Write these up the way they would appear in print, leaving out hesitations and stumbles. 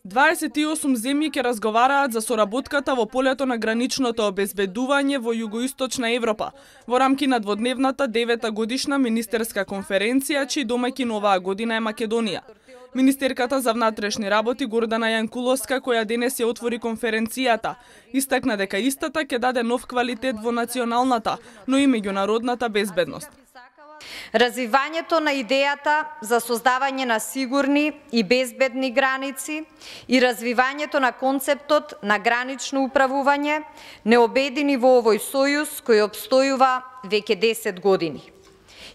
28 земји ќе разговараат за соработката во полето на граничното обезбедување во југоисточна Европа во рамки на дводневната 9-та годишна министерска конференција, чиј домаќин оваа година е Македонија. Министерката за внатрешни работи Гордана Јанкуловска, која денес ја отвори конференцијата, истакна дека истата ќе даде нов квалитет во националната, но и меѓународната безбедност. Развивањето на идејата за создавање на сигурни и безбедни граници и развивањето на концептот на гранично управување не обедини во овој сојуз кој обстојува веќе 10 години.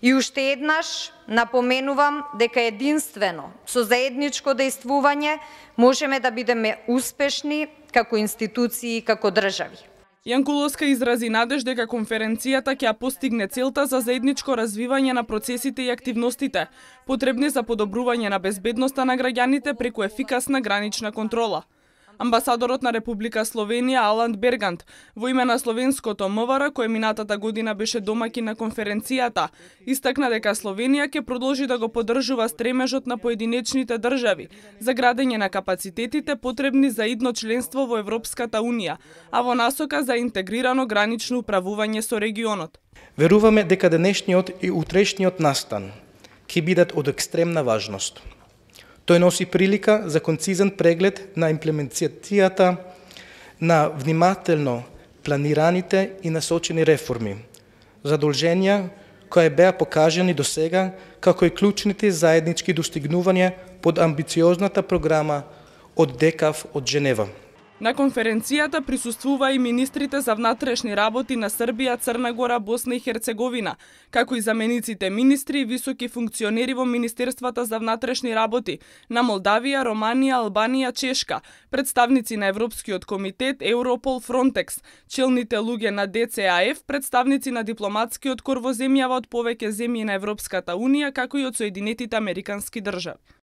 И уште еднаш напоменувам дека единствено со заедничко дејствување можеме да бидеме успешни како институции и како држави. Јанкуловска изрази надеж дека конференцијата ќе постигне целта за заедничко развивање на процесите и активностите, потребни за подобрување на безбедноста на граѓаните преку ефикасна гранична контрола. Амбасадорот на Република Словенија Алан Бергант во име на словенското МВР, кој минатата година беше домаќин на конференцијата, истакна дека Словенија ќе продолжи да го поддржува стремежот на поединечните држави за градење на капацитетите потребни за идно членство во Европската Унија, а во насока за интегрирано гранично управување со регионот. Веруваме дека денешниот и утрешниот настан ќе бидат од екстремна важност. Тој носи прилика за концизен преглед на имплементацијата на внимателно планираните и насочени реформи, задолженија кои беа покажани до сега, како и клучните заеднички достигнувања под амбициозната програма од ДЕКАФ од Женева. На конференцијата присуствува и министрите за внатрешни работи на Србија, Црна Гора, Босна и Херцеговина, како и замениците министри и високи функционери во Министерствата за внатрешни работи на Молдавија, Романија, Албанија, Чешка, представници на Европскиот комитет, Европол, Фронтекс, челните луѓе на ДЦАФ, представници на дипломатскиот кор во земјава од повеќе земји на Европската Унија, како и од Соединетите Американски држави.